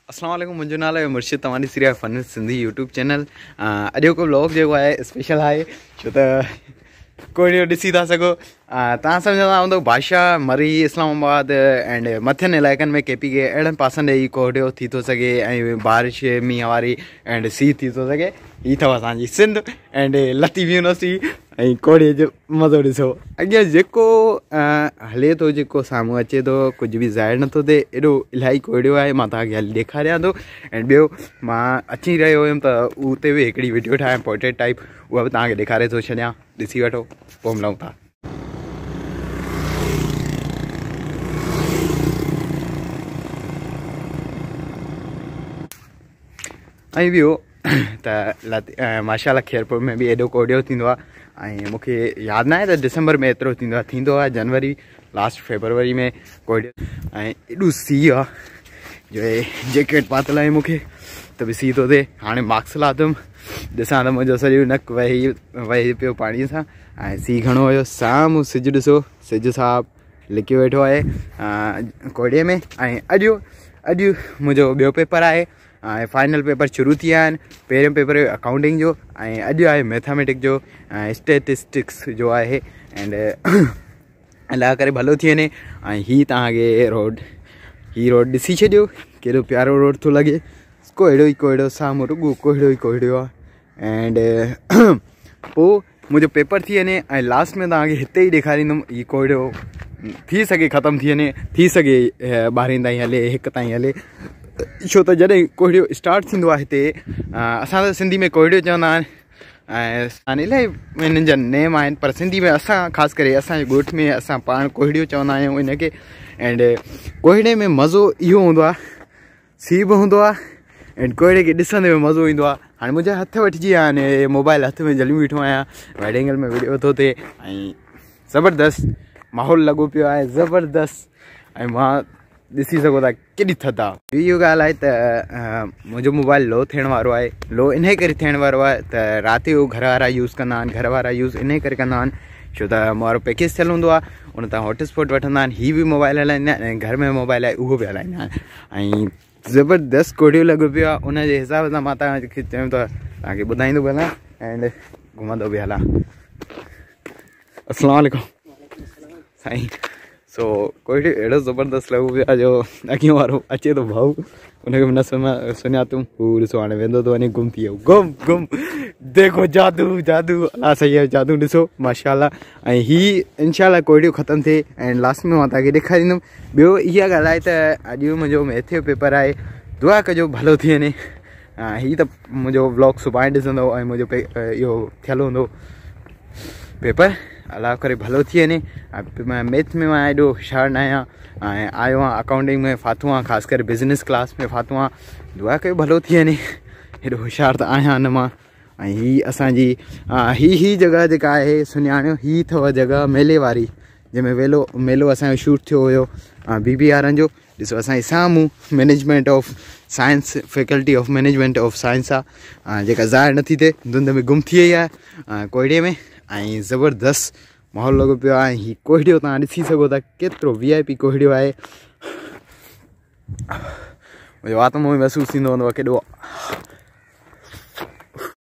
अस्सलाम वालेकुम, मुंहिंजो नालो आहे मुर्शिद। तव्हां ॾिसी रहिया फन सिंधी यूट्यूब चैनल। अॼोको व्लॉग जेको आहे स्पेशल आहे, छो त कोहिड़ो ॾिसी था सघो। तव्हां सम्झंदा हूंदो बादशाह, मरी, इस्लामाबाद एंड मथियनि इलाइक़नि में के पी के अहिड़नि पासनि ॾे ई कोहिड़ो थी थो सघे ऐं बारिश मींहं वारी एंड सीउ थी थो सघे। हीअ अथव असांजी सिंध एंड लतीफ़ यूनिवर्सिटी ऐं कोहिड़े जो मज़ो ॾिसो। अॻियां जेको हले थो, जेको साम्हूं अचे थो, कुझु बि ज़ाहिर नथो थिए। एॾो इलाही कोहिड़ो आहे, मां तव्हांखे हाली ॾेखारियां थो। ऐं ॿियो मां अची रहियो हुयुमि त उते बि हिकिड़ी वीडियो ठाहियां पोर्ट्रेट टाइप, उहा बि तव्हांखे ॾेखारे थो छॾियां, ॾिसी वठो, पोइ मिलूं था। ऐं ॿियो त माशाल्लाह ख़ैरपुर में बि एॾो कोहिड़ो थींदो आहे। ऐं मूंखे यादि न आहे त दिसंबर में एतिरो थींदो आहे, थींदो आहे जनवरी लास्ट फेब्रुवरी में कोहिड़ो। ऐं एॾो सीउ आहे जो जैकेट पातिल आहे मूंखे त बि सीउ थो थिए। हाणे मास्क लाथुमि, ॾिसां त मुंहिंजो सॼो नक वही वही पियो पाणीअ सां। ऐं सीउ घणो हुयो। साम्हूं सिज ॾिसो, सिज साहब लिकियो वेठो आहे कोहिड़े में। ऐं अॼु अॼु मुंहिंजो ॿियो पेपर आहे, फाइनल पेपर शुरू थी विया आहिनि। पहिरियों पेपर हुयो अकाउंटिंग जो ऐं अॼु आहे मैथमेटिक्स जो, स्टेटिस्टिक्स जो आहे। एंड अलाह करे भलो थी वञे। ऐं हीअ तव्हांखे रोड, हीअ रोड ॾिसी छॾियो, केॾो प्यारो रोड थो लॻे। कोहिड़ो ई कोहिड़ो, साम्हूं रुॻो कोहिड़ो ई कोहिड़ो आहे। एंड पोइ मुंहिंजो पेपर थी वञे ऐं लास्ट में तव्हांखे हिते ई ॾेखारींदुमि। हीअ कोहिड़ो थी सघे ख़तमु थी वञे, थी सघे ॿारहं ताईं हले, हिकु ताईं हले। छो त जॾहिं कोहिड़ो स्टार्ट थींदो आहे हिते, असां त सिंधी में कोहिड़ो चवंदा आहिनि ऐं इलाही हिननि जा नेम आहिनि, पर सिंधी में असां ख़ासि करे असांजे ॻोठ में असां पाण कोहिड़ो चवंदा आहियूं हिनखे। एंड कोहिड़े में मज़ो इहो हूंदो आहे, सीउ बि हूंदो आहे एंड कोहिड़े खे ॾिसंदे बि मज़ो ईंदो आहे। हाणे मुंहिंजा हथ वठिजी विया आहिनि, मोबाइल हथ में झलियूं बीठो आहियां, वाइड एंगल में वीडियो थो थिए ऐं ज़बरदस्त माहौल लॻो पियो आहे, ज़बरदस्त। ऐं मां ॾिसी सघो था केॾी थधि आहे। इहो ॻाल्हि आहे त मुंहिंजो मोबाइल लो थियण वारो आहे। लो इन करे थियण वारो आहे त राति जो घर वारा यूज़ कंदा आहिनि, घर वारा यूज़ इन करे कंदा आहिनि छो त वारो पैकेज थियल हूंदो आहे, उन तां हॉट स्पॉट वठंदा आहिनि। हीअ बि मोबाइल हलाईंदा आहिनि ऐं घर में मोबाइल आहे उहो बि हलाईंदा आहिनि। ऐं ज़बरदस्त कोहिड़ो लॻो पियो आहे, उनजे हिसाब सां मां तव्हांखे चयो त तव्हांखे ॿुधाईंदो बि हलां एंड घुमंदो बि हलां। अस्सलाम वालेकुम साईं। सो कोहिड़ो अहिड़ो ज़बरदस्त लॻो पियो आहे जो अॻियों वारो अचे थो भाऊ, उनखे बि न सुञातुमि। हू ॾिसो हाणे वेंदो थो वञे, गुम थी वियो, गुम गुम। देखो जादू जादू, अलाह सही आहे, जादू ॾिसो माशाल्लाह। ऐं हीअ इनशाला कोहिड़ो ख़तमु थिए ऐं लास्ट में मां तव्हांखे ॾेखारींदुमि। ॿियो इहा ॻाल्हि आहे त अॼु मुंहिंजो मैथ जो पेपर आहे, दुआ कजो भलो थी वञे। हीअ त मुंहिंजो व्लॉग सुभाणे ॾिसंदो ऐं मुंहिंजो इहो थियल हूंदो पेपर, अलाह करे भलो थी वञे। मैथ में मां एॾो होशियार न आहियां ऐं आयो आहियां अकाउंटिंग में फाथो आहियां, ख़ासि करे बिज़नेस क्लास में फाथो आहियां। दुआ कयो भलो थी वञे, एॾो होशियार त आहियां न मां। ऐं हीअ असांजी हीअ जॻह जेका आहे सुञाणियो, हीअ अथव जॻह मेले वारी, जंहिंमें वेलो मेलो असांजो शूट थियो हुयो बी बी वारनि जो। ॾिसो असांजे साम्हूं management of science, faculty of management of science आहे, जेका ज़ाहिर नथी थिए, धुंध में गुम थी वई आहे कोहिड़े में। ऐं ज़बरदस्त माहौल लॻो पियो आहे। हीअ कोहिड़ो तव्हां ॾिसी सघो था केतिरो वी I P कोहिड़ो आहे। मुंहिंजे वात मां महसूसु थींदो हूंदो आहे केॾो।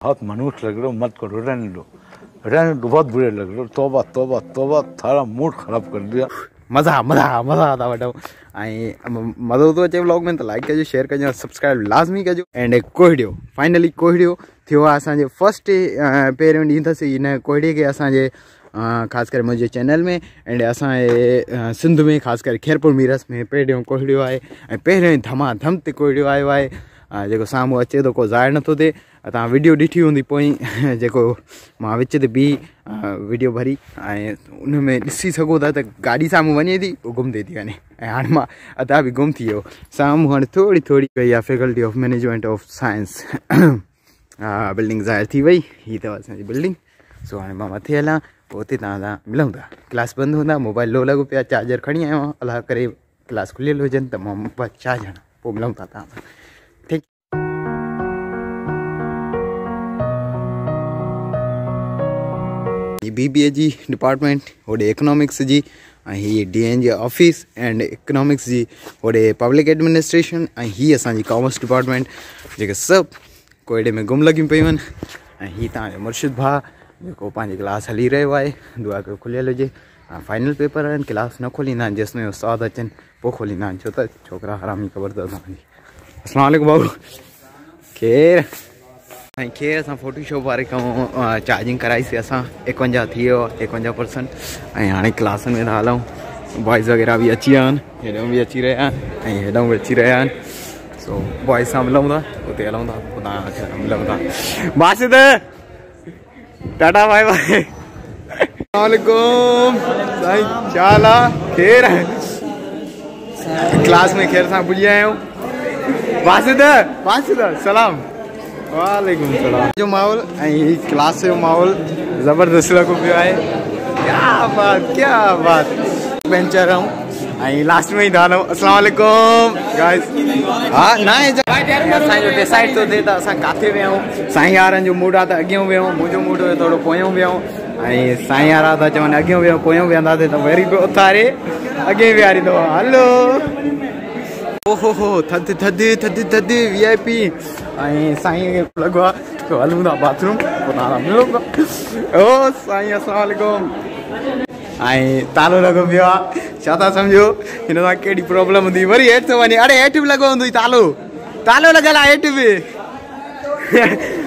बहुत मनुष्य लग रहे हो, मत करो, रहने दो, रहने दो, बहुत बुरे लग रहे हो, तौबा तौबा तौबा, थारा मूड खराब कर दिया। मज़ा मज़ा मज़ा था वठूं। ऐं मज़ो थो अचे व्लॉग में त लाइक कजो, शेयर कजो, सब्सक्राइब लाज़मी कजो। एंड कोहिड़ो फाइनली कोहिड़ो थियो आहे असांजे फर्स्ट पहिरियों ॾींहुं अथसि हिन कोहिड़े खे असांजे ख़ासि करे मुंहिंजे चैनल में एंड असांजे सिंध में ख़ासि करे ख़ैरपुर मीरस में पहिरियों कोहिड़ो आहे ऐं पहिरियों ई धमाधम ते कोहिड़ो आयो आहे, जेको साम्हूं अचे थो, को ज़ाहिर नथो थिए। तव्हां वीडियो ॾिठी हूंदी पोइ जेको मां विच ते बीह वीडियो भरी ऐं उन में ॾिसी सघो था त गाॾी साम्हूं वञे थी, उहो गुम थी थी वञे। ऐं हाणे मां अदा बि गुम थी वियो। साम्हूं हाणे थोरी थोरी वई आहे faculty of management of science building ज़ाहिर थी वई। हीअ अथव असांजी बिल्डिंग। सो हाणे मां मथे हलां, पोइ उते तव्हां सां मिलूं था। क्लास बंदि हूंदा, मोबाइल लो लॻो पियो आहे, चार्जर खणी आयो आहियां। अलाह करे क्लास खुलियल हुजनि त मां मोबाइल चार्ज हणां, पोइ मिलूं था तव्हां सां। ठीक। बीबीए जी डिपार्टमेंट, होॾे इकोनॉमिक्स जी, ऐं हीअ D N office and economics जी, होॾे पब्लिक एडमिनिस्ट्रेशन, ऐं हीअ असांजी कॉमर्स डिपार्टमेंट, जेके सभु कोइड़े में गुम लॻियूं पयूं आहिनि। ऐं हीअ तव्हांजो मुर्शिद भाउ जेको पंहिंजी क्लास हली रहियो आहे, दुआ कयो खुलियल हुजे। फाइनल पेपर आहिनि, क्लास न खोलींदा आहिनि जेसि ताईं उस्ताद अचनि पोइ खोलींदा आहिनि, छो त छोकिरा हरामी ख़बर अथव तव्हांजी। अस्सलाम वालेकुम भाऊ, खेर ऐं खेर असां फोटोशॉप वारे खां चार्जिंग कराईसीं असां, 51 थी वियो आहे, 51%। ऐं हाणे क्लासनि में था हलूं, बॉयज़ वग़ैरह बि अची विया आहिनि, हेॾां बि अची रहिया आहिनि ऐं हेॾां बि अची रहिया आहिनि। सो बॉयज़ सां मिलूं था, उते हलूं था, पोइ तव्हां मिलूं था। Basit tata bye bye. अस्सलाम साईं, छा हाल आहे? खेर क्लास में खेर सां पुॼी आया आहियूं। बासित बासित सलाम। वालेकुम सलाम। जो माहौल ऐं क्लास जो माहौल ज़बरदस्त लॻो पियो आहे, क्या बात क्या बात। बेंचर आऊं ऐं लास्ट में ई था हलूं। अस्सलाम वालेकुम गाइस। हा न असांजो डिसाइड थो थिए त असां किथे वियूं। साईं यारनि जो मूड आहे त अॻियों वियूं, मुंहिंजो मूड हुयो थोरो पोयों वियूं, ऐं साईं यारा था चवनि अॻियों वियूं पोयों वेंदासीं त वरी बि उथारे अॻे विहारींदो। हलो ओहो हो, थधि थधि थधि थधि वीआईपी। ऐं साईं खे लॻो आहे त हलूं था बाथरूम, पोइ तव्हां मिलूं था। ओ साईं अस्सलाम वालेकुम। ऐं तालो लॻो पियो आहे, छा था सम्झो हिन सां कहिड़ी प्रॉब्लम हूंदी, वरी हेठि थो वञे। अरे हेठि बि लॻो हूंदो तालो, तालो लॻल आहे हेठि बि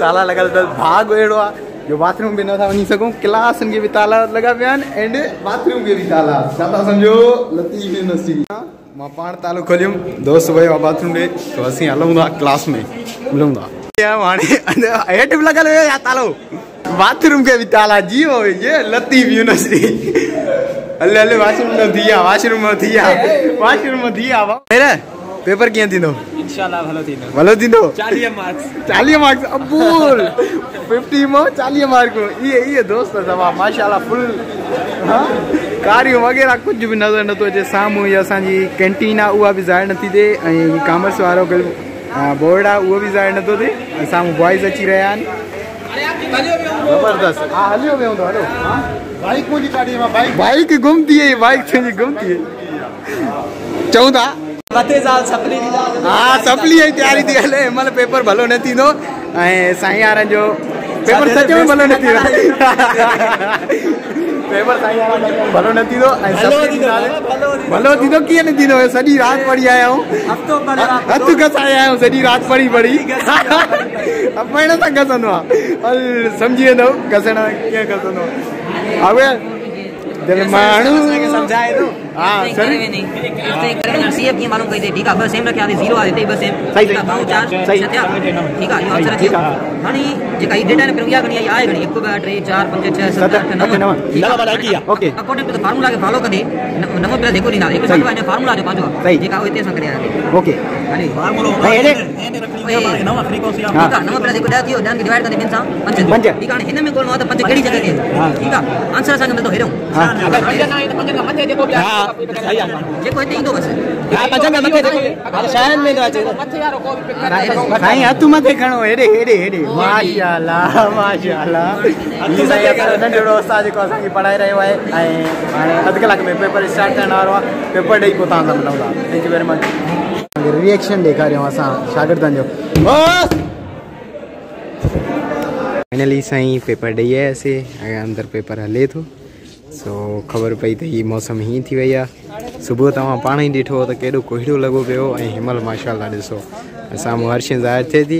ताला लॻल अथसि। भाॻ अहिड़ो आहे जो बाथरूम बि नथा वञी सघूं, क्लासनि खे बि ताला लॻा पिया आहिनि एंड बाथरूम खे बि ताला। छा था सम्झो लतीफ़ यूनिवर्सिटी। मां पाण तालो खोलियुमि, दोस्त वियो आहे बाथरूम ॾे, त असीं हलूं था क्लास में, मिलूं था। हाणे हेठि बि लॻल हुयो तालो, बाथरूम खे बि ताला। जी हो ये लतीफ़ यूनिवर्सिटी। हले हले वाशरूम में थी विया, वाशरूम में थी विया, वाशरूम में थी विया। पेपर कीअं थींदो? इंशाल्लाह भलो थींदो। भलो थींदो? 40 मार्क्स। 40 मार्क्स अबूल 50 मां 40 मार्क। इहे इहे दोस्त सभा माशाल्लाह फुल। हां कारियूं वग़ैरह कुझु बि नज़र नथो अचे। साम्हूं ई असांजी कैंटीन आहे, उहा बि ज़ाहिर नथी थिए, ऐं कॉमर्स वारो बोर्ड आहे उहो बि ज़ाहिर नथो थिए। ऐं साम्हूं बॉयज़ अची रहिया आहिनि ज़बरदस्त। हा हलियो वियो हूंदो, हलो। बाइक मुंहिंजी काॾी आहे, बाइक गुम थी वई, बाइक तुंहिंजी गुम थी वई। चऊं था हा सपली जी तयारी थी हले। हिन महिल पेपर भलो न थींदो ऐं साईं यारनि जो पेपर सच में भलो न थींदो। पेपर साईं यारनि जो भलो न थींदो ऐं भलो थींदो कीअं न थींदो? सॼी राति पढ़ी आया आहियूं, हथु घसाए आया आहियूं, सॼी राति पढ़ी पढ़ी। पढ़ण सां घसंदो आहे, सम्झी वेंदव घसण कीअं घसंदो आहे। माण्हू सम्झाए थो। हां सर सीएफ कीअं मालूम कई ठीक आहे, ॿ सेम रखिया 0 आहे हिते ॿ सेम ठीक आहे, 2 4 6 थिया ठीक आहे। इहो आंसर अची वियो। हाणे जेका ही डेटा ने इहा घणी आई आहे घणी 1 2 3 4 5 6 7 8 9 9 9 की आहे। Okay according to the formula खे फॉलो कंदे 9 प्लस 1 ॾींदा, 1 सां हिन फार्मूला जो पंहिंजो जेका हिते असां करे आया। ओके हाणे फार्मूलो एने रखणी आहे 9 फ्रीक्वेंसी ठीक आहे, 9 प्लस 1 10 थियो, 10 खे डिवाइड कंदे ॿिनि सां 5 ठीक आहे। हाणे हिन में ॻोल्हिणो आहे त 5 कहिड़ी जॻह ते ठीक आहे। आंसर असांखे मिलंदो हेॾो, अगरि 5 न आहे त 5 खां मथे जेको बि आहे जेको हिते ईंदो बसि। हा 5 खां मथे जेको बि शहरनि में थो अचे मथे वारो को बि पिक करे साईं हथु मथे खणो, हेॾे हेॾे हेॾे। माशाअल्लाह माशाअल्लाह। ही साईं असांजो नंढड़ो उस्ताद जेको असांखे पढ़ाए रहियो आहे ऐं हाणे अधु कलाक में पेपर स्टार्ट थियण वारो आहे। पेपर ॾेई पोइ तव्हां सां मिलूं था। Thank you very much. Reaction ॾेखारियूं असां शागिर्दनि जो। फाइनली साईं पेपर ॾेई आयासीं ऐं अंदरि पेपर हले थो। सो ख़बर पई त हीअ मौसम हीअं थी वई आहे। सुबुह तव्हां पाण ई ॾिठो त केॾो कोहिड़ो लॻो पियो ऐं हिन महिल माशाअल्लाह ॾिसो साम्हूं हर शइ ज़ाहिर थिए थी।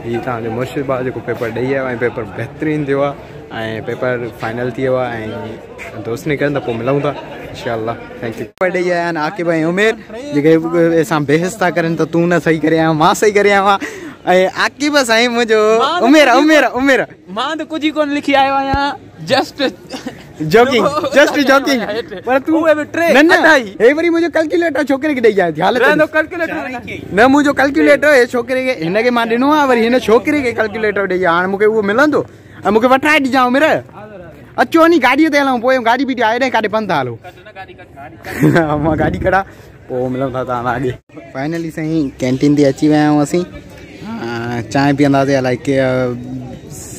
हीअ तव्हांजो मुर्शिद भाउ जेको पेपर ॾेई आयो ऐं पेपर बहितरीनु थियो आहे ऐं पेपर फाइनल थी वियो आहे ऐं दोस्त निकिरनि त पोइ मिलूं था इंशाअल्लाह। Thank you. Paper ॾेई आया आहिनि आकिब ऐं उमेर, जेके असां बहस था करनि त तूं न सही करे आयो, मां सही करे आयो आहियां। ऐं आकिब साईं मुंहिंजो उमेर उमेर उमेर मां त कुझु ई कोन लिखी आयो आहियां, जस्ट जोकिंग जस्ट जोकिंग। पर तू न न हे वरी मुंहिंजो कैलकुलेटर छोकिरे खे ॾेई आयो। हालत कैलकुलेटर न मुंहिंजो कैलकुलेटर हे छोकिरे खे हिन खे मां ॾिनो आहे, वरी हिन छोकिरे खे कैलकुलेटर ॾेई आयो। हाणे मूंखे उहो मिलंदो ऐं मूंखे वठाए ॾिजांइ उमेर। अचो नी गाॾीअ ते हलूं, पोइ गाॾी बीठी आहे हेॾे काॾे पंध था हलूं। मां गाॾी कढां पोइ मिलूं था तव्हां अॻे। फाइनली साईं कैंटीन ते अची विया आहियूं असीं। चांहि पीअंदासीं, अलाए के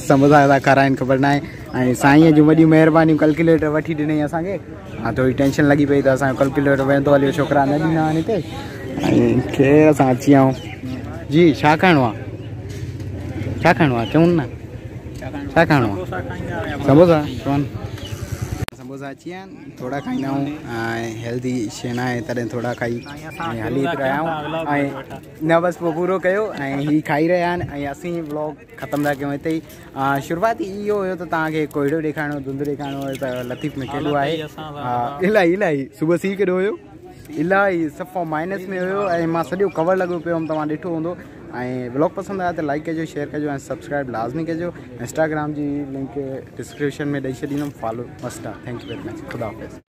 समोसा था खाराइनि ख़बर न आहे। ۽ سائينءَ جون وڏيون مهربانيون ڪلڪيوليٽر وٺي ڏنئي اسان کي. ها ٿوري ٽينشن لڳي پئي ته اسان جو ڪلڪيوليٽر ويندو هليو ڇوڪرا نه ڏيندا آهن هتي. ۽ خير اسان اچي ويا آهيون. جي ڇا کائڻو آهي؟ ڇا کائڻو آهي چون نه ڇا کائڻو آهي؟ سموسا چون. سموسا اچي ويا آهن ٿورا کائيندا آهيون ۽ هيلدي شيء نه آهي تڏهن ٿورا کائي ۽ هلي رهيا آهيون ۽ نه بس پوء پورو ڪيو ۽ هي کائي رهيا آهن ۽ اسين ولاگ ختم ٿا ڪيون هتي ئي. شروعاتي اهو هيو ته توهان کي ڪوهيڙو ڏيکارڻو ڌنڌ ڏيکارڻو هيو ته لطيف ۾ ڪيڏو آهي الاهي الاهي صبح سيء ڪيڏو هيو الاهي صفا مائنس ۾ هيو ۽ مان سڄو ڪور لڳو پيو هوم توهان ڏٺو هوندو ۽ ولاگ پسند آيو ته لائڪ ڪجو شيئر ڪجو ۽ سبسڪرائب لازمي ڪجو انسٽاگرام جي لنڪ ڊسڪرپشن ۾ ڏئي ڇڏيندم فالو مسٽ آ thank you very much خدا حافظ.